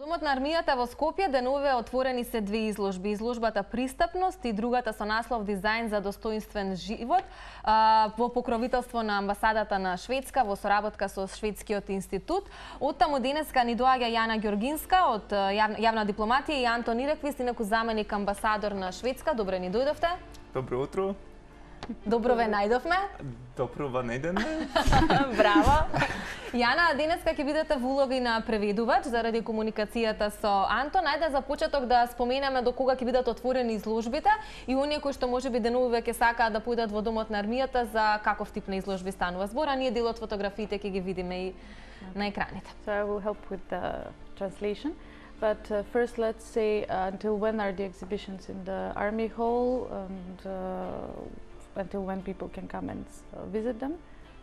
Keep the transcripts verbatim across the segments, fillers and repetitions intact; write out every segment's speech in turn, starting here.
Домот на армијата во Скопје денуве отворени се две изложби. Изложбата Пристапност и другата со наслов Дизајн за достоинствен живот во покровителство на амбасадата на Шведска во соработка со Шведскиот институт. Оттаму денеска ни доаѓа Јана Ѓоргинска од јавна дипломатија и Антон Иреквист, инаку заменик амбасадор на Шведска. Добре ни дојдовте. Добро утро. Добро ве најдовме. Добро ве најдовме. Браво. Јана, денеска ќе бидете во улога и на преведувач заради комуникацијата со Антон. Ајде за почеток да споменеме до кога ќе бидат отворени изложбите и оние кои што можеби денуве ќе сакаат да појдат во домот на армијата, за каков тип на изложби станува збор, а ние дел од фотографиите ќе ги видиме и на екраните. So I will help with the translation. But uh, first, let's say uh, until when are the exhibitions in the Army Hall, and uh, until when people can come and uh, visit them,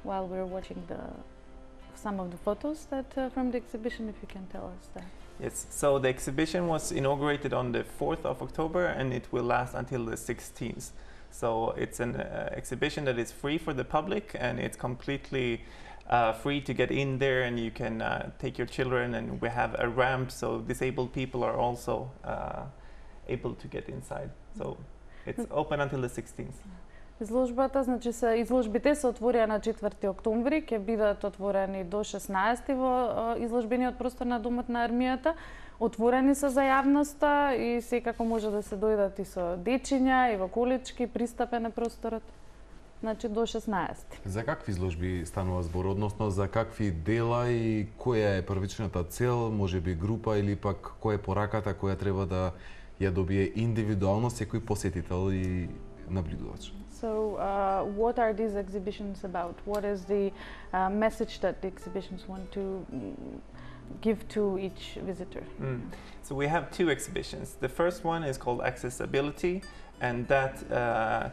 while we're watching the some of the photos that uh, from the exhibition, if you can tell us that. Yes, so the exhibition was inaugurated on the fourth of October and it will last until the sixteenth. So it's an uh, exhibition that is free for the public and it's completely uh, free to get in there, and you can uh, take your children, and we have a ramp so disabled people are also uh, able to get inside. So it's open until the sixteenth. Изложбата, значи се изложбите се отворија на четврти октомври, ќе бидат отворени до шеснаесети во изложбениот простор на Домот на армијата. Отворени се за јавноста и секако може да се дојдат и со дечиња и во колички, пристапен е просторот. Значи до шеснаесети. За какви изложби станува збор, односно за какви дела и која е првичната цел, можеби група или пак која е пораката која треба да ја добие индивидуално секој посетител и наблюдувач? So, uh, what are these exhibitions about? What is the uh, message that the exhibitions want to mm, give to each visitor? Mm. So we have two exhibitions. The first one is called Accessibility, and that uh, uh,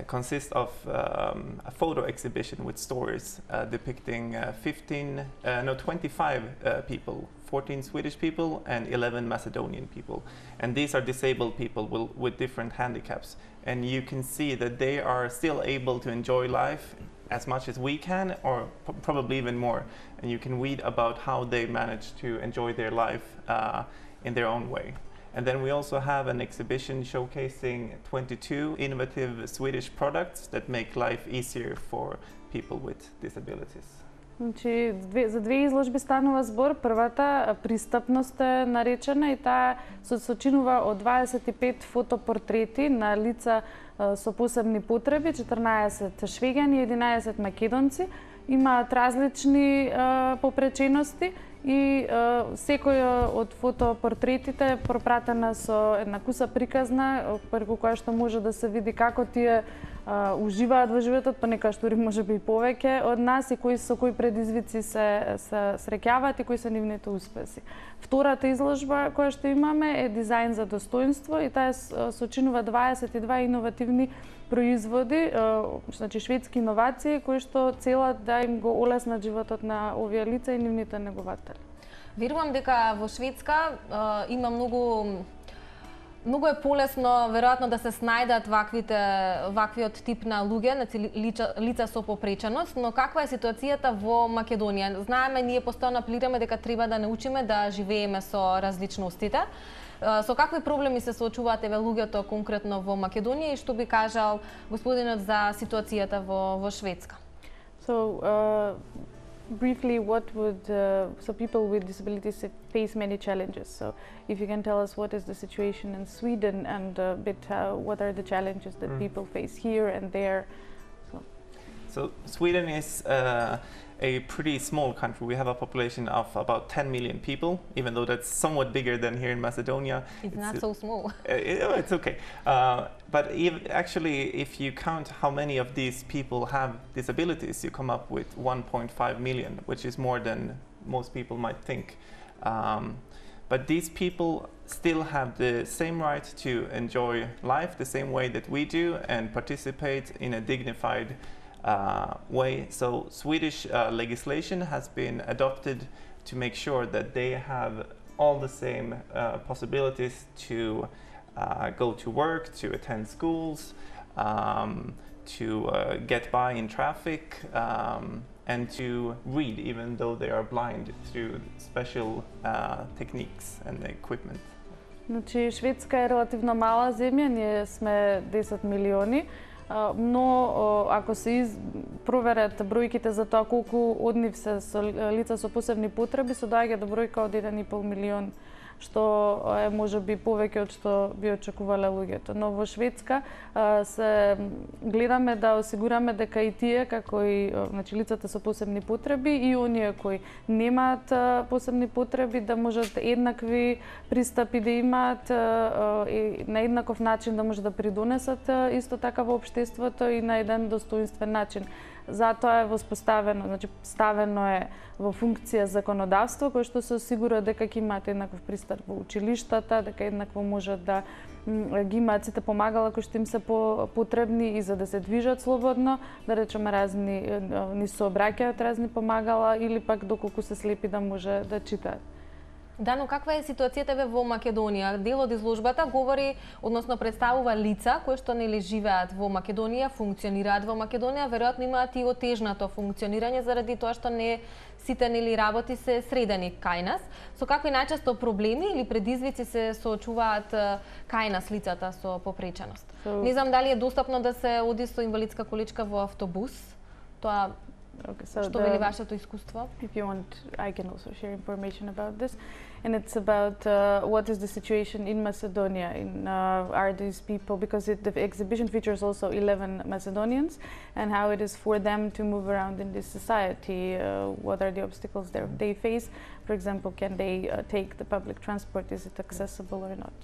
consists of um, a photo exhibition with stories uh, depicting uh, fifteen, uh, no, twenty-five uh, people, fourteen Swedish people and eleven Macedonian people. And these are disabled people will, with different handicaps. And you can see that they are still able to enjoy life as much as we can, or p probably even more. And you can read about how they manage to enjoy their life uh, in their own way. And then we also have an exhibition showcasing twenty-two innovative Swedish products that make life easier for people with disabilities. Значи, две, за две изложби станува збор. Првата, Пристапност е наречена, и таа се сочинува од дваесет и пет фотопортрети на лица а, со посебни потреби, четрнаесет швеѓани и единаесет македонци. Имаат различни а, попречености и а, секој од фотопортретите е пропратена со една куса приказна, преку која што може да се види како тие Uh, уживаат во животот, па некоја што може би и повеќе од нас, и кои со кои предизвици се, се среќаваат и кои се нивните успеси. Втората изложба која што имаме е Дизајн за достоинство, и таа сочинува дваесет и два иновативни производи, uh, значи шведски иновации, кои што целат да им го олеснат животот на овие лица и нивните негователи. Верувам дека во Шведска uh, има многу Многу е полесно, веројатно, да се снајдат ваквите, ваквиот тип на луѓе, на лица, лица со попреченост, но каква е ситуацијата во Македонија? Знаеме, ние постојано апелираме дека треба да научиме да живееме со различностите. Со какви проблеми се соочуваат еве луѓето конкретно во Македонија и што би кажал господинот за ситуацијата во, во Шведска? So, uh... briefly, what would uh, so people with disabilities face many challenges. So, if you can tell us what is the situation in Sweden and a bit uh, what are the challenges that mm. people face here and there. So, so Sweden is uh, a pretty small country. We have a population of about ten million people, even though that's somewhat bigger than here in Macedonia. It's, it's not uh, so small. Uh, it, it's okay. Uh, but if, actually, if you count how many of these people have disabilities, you come up with one point five million, which is more than most people might think. Um, but these people still have the same right to enjoy life the same way that we do and participate in a dignified Uh, way. So Swedish uh, legislation has been adopted to make sure that they have all the same uh, possibilities to uh, go to work, to attend schools, um, to uh, get by in traffic um, and to read even though they are blind through special uh, techniques and equipment. Значи, Шведска е релативно мала земја, ние сме десет милиони, но ако се из... проверат бројките за тоа колку од нив се со лица со посебни потреби, се доаѓа до бројка од еден и пол милион, што е можеби повеќе од што би очекувале луѓето. Но во Шведска се гледаме да осигураме дека и тие, како и значи лицата со посебни потреби и оние кои немаат посебни потреби, да можат еднакви пристапи да имаат и на еднаков начин да може да придонесат исто така во општеството и на еден достоинствен начин. Затоа е воспоставено, значи ставено е во функција законодавство кој што се осигура дека ќе имаат еднаков пристап во училиштата, дека еднакво можат да ги имаат сите помагала кои што им се потребни и за да се движат слободно, да речеме разни ни сообраќаат разни помагала или пак доколку се слепи да може да читаат. Да, но каква е ситуацијата ве во Македонија? Дел од изложбата говори, односно представува лица кои што нели живеат во Македонија, функционираат во Македонија, веројатно имаат и отежнато функционирање заради тоа што не сите нели работи се средени кај нас. Со какви најчесто проблеми или предизвици се соочуваат кај нас лицата со попреченост? So, не знам дали е достапно да се оди со инвалидска количка во автобус. Тоа Okay, so што вели вашето искуство? If you want, I can also share information about this. And it's about uh, what is the situation in Macedonia. In, uh, are these people, because it, the exhibition features also eleven Macedonians, and how it is for them to move around in this society. Uh, what are the obstacles they face? For example, can they uh, take the public transport? Is it accessible or not?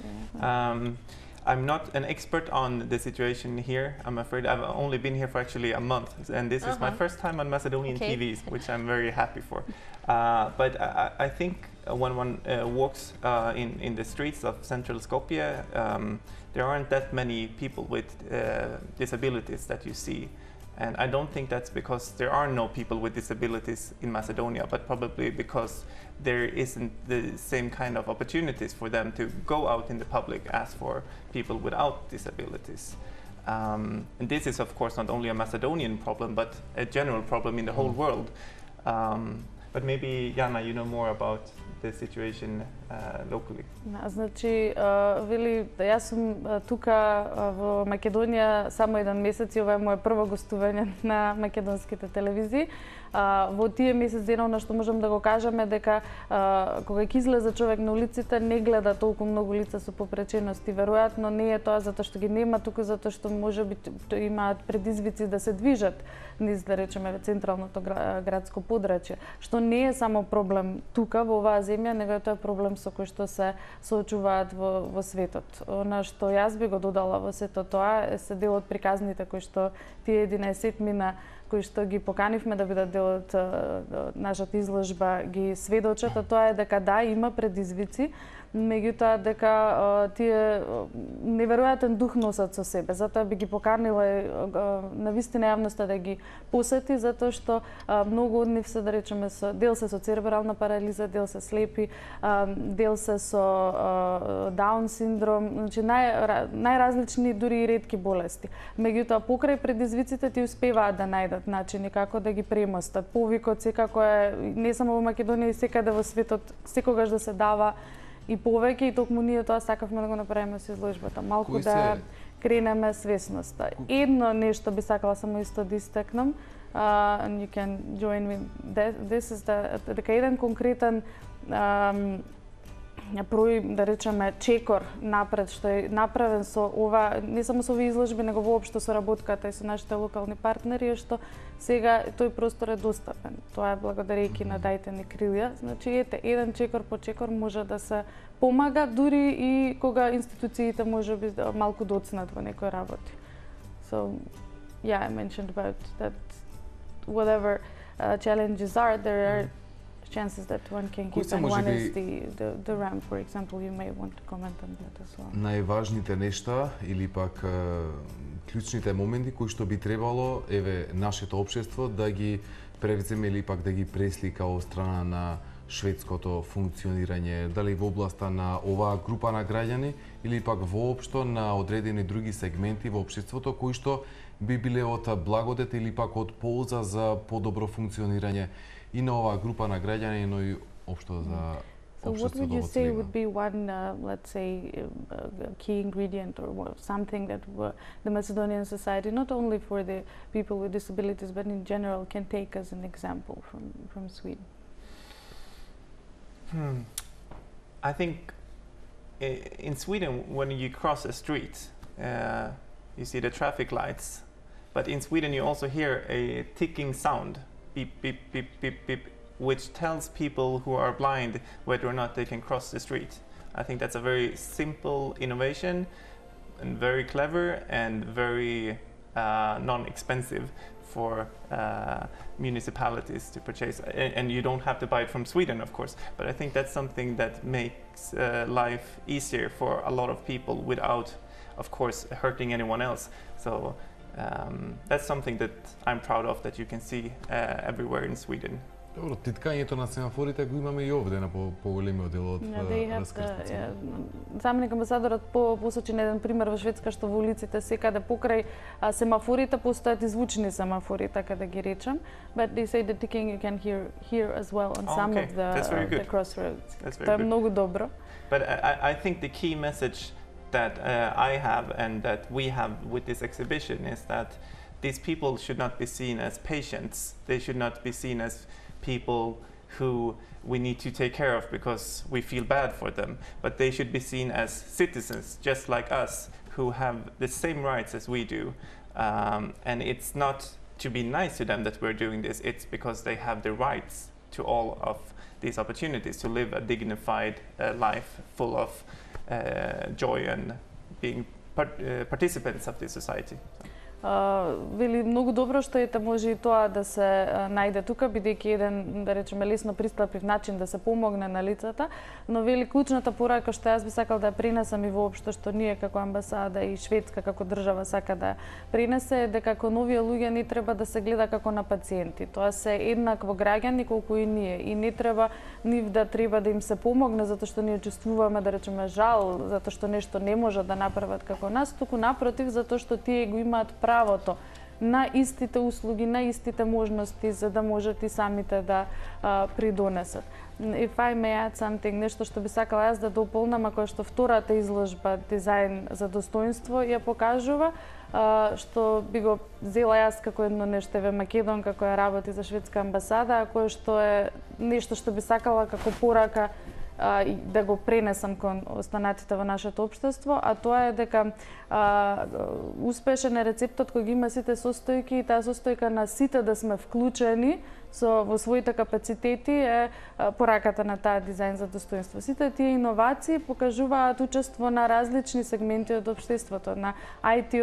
Yeah. Um, I'm not an expert on the situation here. I'm afraid I've only been here for actually a month, and this uh-huh. is my first time on Macedonian okay. T Vs, which I'm very happy for. Uh, but I, I think when one uh, walks uh, in, in the streets of central Skopje, um, there aren't that many people with uh, disabilities that you see. And I don't think that's because there are no people with disabilities in Macedonia, but probably because there isn't the same kind of opportunities for them to go out in the public as for people without disabilities. Um, and this is, of course, not only a Macedonian problem, but a general problem in the whole world. Um, but maybe, Jana, you know more about the situation uh, locally. Значи, вели, јас сум тука во Македонија само еден месец и ова е моје прво гостување на македонските телевизии. Во тие месец денов на што можам да го кажам е дека кога ќе излезе човек на улиците не гледа толку многу лица со попречености. Веројатно не е тоа затоа што ги нема туку, затоа што можеби имаат предизвици да се движат низ, да речеме, централното градско подрачје, што не е само проблем тука во оваа земја, него е тоа проблем со кој што се соочуваат во, во светот. Она што јас би го додала во сето тоа е се дел од приказните кои што тие единаесет мина кои што ги поканивме да бидат дел од нашата изложба ги сведочат, а тоа е дека да, има предизвици, меѓутоа дека тие неверојатен дух носат со себе. Затоа би ги поканила на вистина јавноста да ги посети, затоа што многу од нив се, да речеме, со, дел се со церебрална парализа, дел се слепи, дел се со Даун синдром, значи нај, најразлични дури и ретки болести. Меѓутоа покрај предизвиците ти успеваат да најдат начини како да ги премостат. Повикот секако е не само во Македонија и секаде во светот секогаш да се дава и повеќе, и токму ние тоа сакавме да го направиме со изложбата. Малку Кој да се... кренеме свесноста. Едно нешто би сакала само исто да истекнам, uh, and you can join me. This is the, дека еден конкретен um, прој, да речеме, чекор напред што е направен со ова, не само со овие изложби, него воопшто со работката и со нашите локални партнери, е што сега тој простор е достапен. Тоа е благодарејќи на Дајте ни крилја. Значи, ете, еден чекор по чекор може да се помага, дури и кога институциите може би малку доцнат во некои работи. So, yeah, I mentioned about that whatever uh, challenges are, there are chances that one can keep, and one is the, the, the ramp, for example. You may want to comment on that as well. Најважните нешта или пак клучните моменти кои што би требало, еве, нашето општество да ги превземе или пак да ги преслика од страна на шведското функционирање, дали во областа на оваа група на граѓани или пак воопшто на одредени други сегменти во општеството кои што би биле од благодет или пак од полза за подобро функционирање и на оваа група на граѓани, но и општо за So what would you say would be one, uh, let's say, uh, key ingredient or something that uh, the Macedonian society, not only for the people with disabilities, but in general, can take as an example from, from Sweden? Hmm. I think in Sweden, when you cross a street, uh, you see the traffic lights, but in Sweden you also hear a ticking sound, beep, beep, beep, beep, beep, which tells people who are blind whether or not they can cross the street. I think that's a very simple innovation and very clever and very uh, non-expensive for uh, municipalities to purchase. And, and you don't have to buy it from Sweden, of course, but I think that's something that makes uh, life easier for a lot of people without, of course, hurting anyone else. So um, that's something that I'm proud of, that you can see uh, everywhere in Sweden. Добро, титкањето на семафорите го имаме и овде на поголемиот дел од раскрстицата. Заменик амбасадорот по посочи еден пример во Шведска, што во улиците секаде покрај семафорите постојат извучени семафори, така да ги речам. But they say the ticking you can hear here as well on some of the, the crossroads. Тоа е многу добро. But I, I think the key message that uh, I have and that we have with this exhibition is that these people should not be seen as patients. They should not be seen as people who we need to take care of because we feel bad for them, but they should be seen as citizens just like us who have the same rights as we do. Um, and it's not to be nice to them that we're doing this, it's because they have the rights to all of these opportunities to live a dignified uh, life full of uh, joy and being part, uh, participants of this society. Uh, вели многу добро што ете може и тоа да се uh, најде тука, бидејќи еден, да речеме, лесно пристапив начин да се помогне на лицата, но вели клучната порака што јас би сакал да ја пренесам и воопшто што ние како амбасада и Шведска како држава сака да пренесе е дека како нови луѓе не треба да се гледа како на пациенти. Тоа се еднакво граѓани колку и ние и не треба нив да треба да им се помогне затоа што ние чувствуваме, да речеме, жал затоа што нешто не можат да направат како нас, туку напротив затоа што тие го имаат правото на истите услуги, на истите можности за да можат и самите да а, придонесат. If I may add something, нешто што би сакала јас да дополнам, ако што втората изложба Дизајн за достоинство ја покажува, а, што би го взела јас како едно нешто еве македонка која работи за шведска амбасада, а кое што е нешто што би сакала како порака а, да го пренесам кон останатите во нашето општество, а тоа е дека а, успешен е рецептот кој ги има сите состојки и таа состојка на сите да сме вклучени со во своите капацитети е а, пораката на таа дизајн за достоинство. Сите тие иновации покажуваат учество на различни сегменти од општеството, на ај ти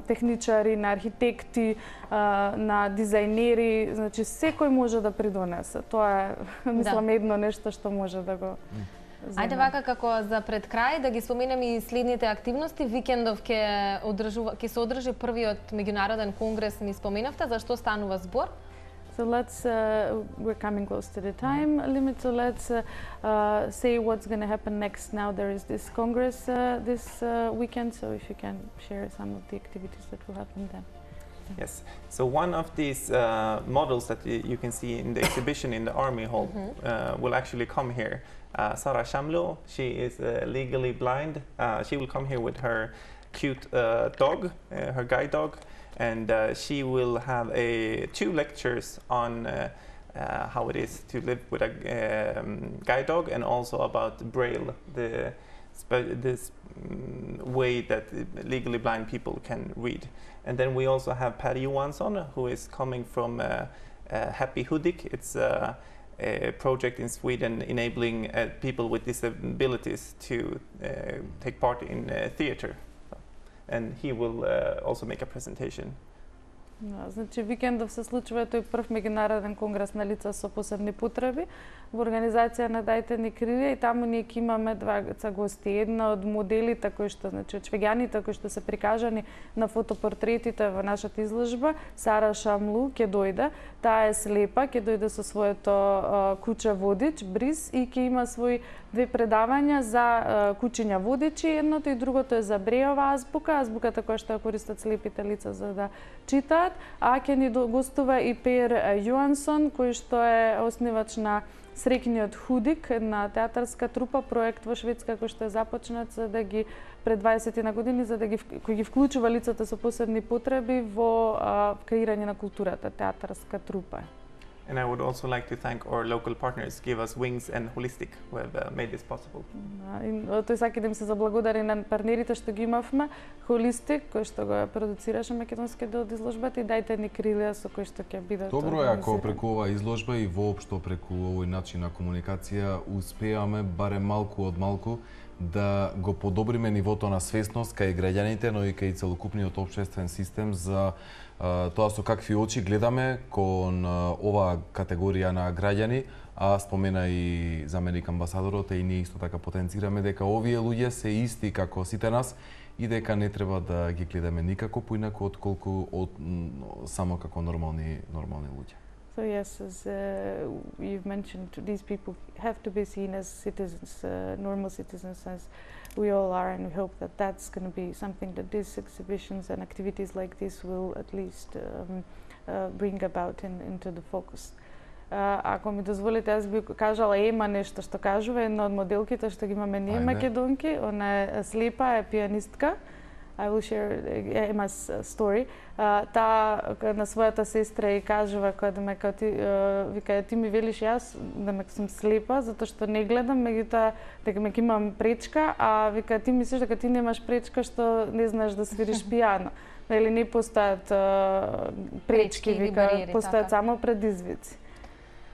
техничари, на архитекти, а, на дизајнери, значи секој може да придонесе. Тоа е, мислам, да. едно нешто што може да го Ајде вака како за пред крај да ги споменеме и следните активности. Викендов ќе одржува ќе се одржи првиот меѓународен конгрес, ни споменавте, за што станува збор? So let's, uh, we're coming close to the time limit, so let's uh, uh, say what's going to happen next. Now there is this Congress uh, this uh, weekend, so if you can share some of the activities that will happen then. Yes, so one of these uh, models that y you can see in the exhibition in the Army Hall mm-hmm. uh, will actually come here. Uh, Sara Shamlo, she is uh, legally blind. Uh, she will come here with her cute uh, dog, uh, her guide dog, and uh, she will have a two lectures on uh, uh, how it is to live with a um, guide dog, and also about Braille, the this um, way that legally blind people can read. And then we also have Per Johansson, who is coming from uh, uh, Happy Hudik. It's uh, a project in Sweden enabling uh, people with disabilities to uh, take part in uh, theater. And he will uh, also make a presentation. Да, значи викендов се случува тој прв меѓународен конгрес на лица со посебни потреби во организација на Дајте ни крилја и таму ние ќе имаме дваца гости. Една од моделите кои што, значи од швеѓаните кои што се прикажани на фотопортретите во нашата изложба, Сара Шамлу ќе дојде. Таа е слепа, ќе дојде со своето а, куче водич Бриз и ќе има свои две предавања за а, кучиња водичи, едното и другото е за Брејова азбука, азбуката која што ја користат слепите лица за да читаат, а ќе ни гостува и Пер Јоансон, кој што е основач на Среќниот худик, една театарска трупа, проект во Шведска кој што е започнат за да ги пред дваесет на години за да ги кој ги вклучува лицата со посебни потреби во а, креирање на културата, театарска трупа. And I would also like to thank our local partners, Give Us Wings and Holistic, who have uh, made this possible. И тој сака да им се заблагодари на партнерите што ги имавме, Holistic, кој што го продуцираше македонскиот дел од изложбата и Дајте ни крилја со кој што ќе бидат. Добро е ако преку оваа изложба и воопшто преку овој начин на комуникација успеаме барем малку од малку да го подобриме нивото на свесност кај граѓаните, но и кај целокупниот општествен систем за uh, тоа со какви очи гледаме кон uh, оваа категорија на граѓани, а спомена и заменик амбасадорот, и ние исто така потенцираме дека овие луѓе се исти како сите нас и дека не треба да ги гледаме никако поинаку отколку од, само како нормални нормални луѓе. So yes, as uh, you've mentioned, these people have to be seen as citizens, uh, normal citizens, as we all are, and we hope that that's going to be something that these exhibitions and activities like this will at least um, uh, bring about in, into the focus. Uh, ако ми дозволите, аз би кажала Ема нешто што кажува, една од моделките што ги имаме ние македонки, она е слепа, е пианистка. I will share Emma's story. Uh, таа на својата сестра и кажува кога да ме као ти uh, вика ти ми велиш јас да ме сум слепа затоа што не гледам, меѓутоа дека ме имам пречка, а вика ти мислиш дека ти немаш пречка што не знаеш да свириш пијано. Нели не постојат uh, пречки, вика постојат само предизвици.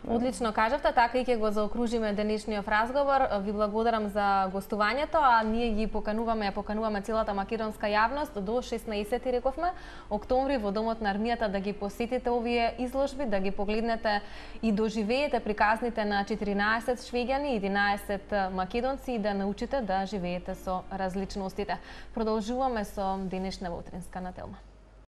Одлично кажавте, така и ќе го заокружиме денешниот разговор. Ви благодарам за гостувањето, а ние ги покануваме, ја покануваме целата македонска јавност до шеснаесети рековме октомври во Домот на армијата да ги посетите овие изложби, да ги погледнете и доживеете приказните на четиринаесет швеѓани и единаесет македонци и да научите да живеете со различностите. Продолжуваме со денешната утринска на Телма.